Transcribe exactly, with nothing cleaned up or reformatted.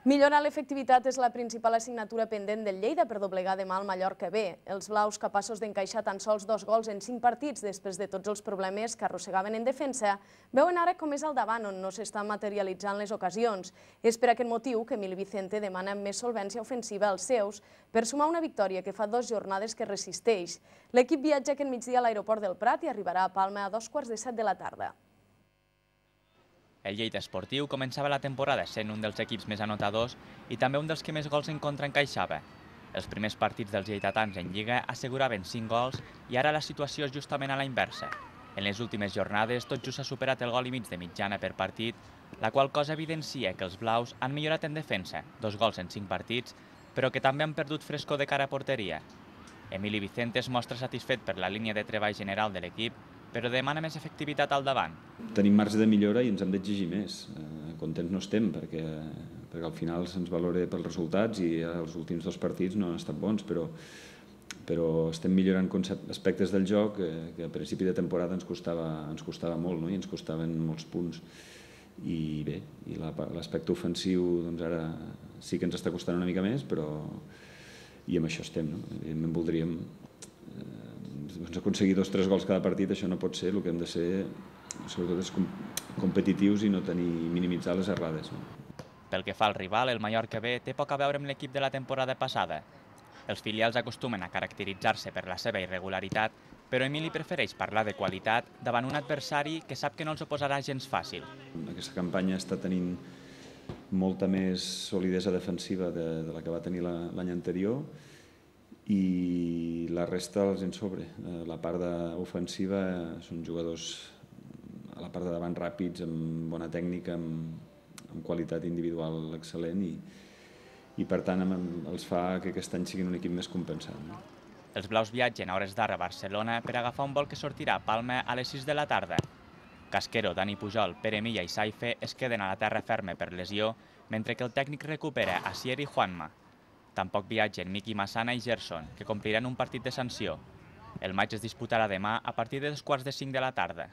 Millorar l'efectivitat és la principal assignatura pendent del Lleida per doblegar demà el Mallorca B. Els blaus, capaços d'encaixar tan sols dos gols en cinc partits després de tots els problemes que arrossegaven en defensa, veuen ara com és al davant on no s'estan materialitzant les ocasions. És per aquest motiu que Emili Vicente demana més solvència ofensiva als seus per sumar una victòria que fa dues jornades que resisteix. L'equip viatja aquest migdia a l'aeroport del Prat i arribarà a Palma a dos quarts de set de la tarda. El Lleida Esportiu començava la temporada sent un dels equips més anotadors i també un dels que més gols en contra encaixava. Els primers partits dels lleidatans en Lliga asseguraven cinc gols i ara la situació és justament a la inversa. En les últimes jornades tot just s'ha superat el gol i mig de mitjana per partit, la qual cosa evidencia que els blaus han millorat en defensa, dos gols en cinc partits, però que també han perdut frescor de cara a porteria. Emili Vicente es mostra satisfet per la línia de treball general de l'equip, però demana més efectivitat al davant. Tenim marge de millora i ens hem d'exigir més. Contents no estem, perquè, perquè al final se'ns valora pels resultats i els últims dos partits no han estat bons, però, però estem millorant aspectes del joc que, que a principi de temporada ens costava, ens costava molt, no? I ens costaven molts punts. I bé, i l'aspecte ofensiu doncs ara sí que ens està costant una mica més, però i amb això estem, no? Evidentment voldríem doncs aconseguir dos o tres gols cada partit, això no pot ser, el que hem de ser sobretot és competitius i no tenir, minimitzar les errades. No? Pel que fa al rival, el Mallorca B té poc a veure amb l'equip de la temporada passada. Els filials acostumen a caracteritzar-se per la seva irregularitat, però Emili prefereix parlar de qualitat davant un adversari que sap que no els oposarà gens fàcil. Aquesta campanya està tenint molta més solidesa defensiva de, de la que va tenir l'any anterior, i la resta els en sobre. La part ofensiva són jugadors a la part de davant ràpids, amb bona tècnica, amb, amb qualitat individual excel·lent i, i per tant els fa que aquest any siguin un equip més compensat. No? Els blaus viatgen a hores d'ara a Barcelona per agafar un vol que sortirà a Palma a les sis de la tarda. Casquero, Dani Pujol, Pere Milla i Saife es queden a la terra ferma per lesió, mentre que el tècnic recupera Asier i Juanma. Tampoc viatgen Miki Massana i Gerson, que compliran un partit de sanció. El matx es disputarà demà a partir de dos quarts de cinc de la tarda.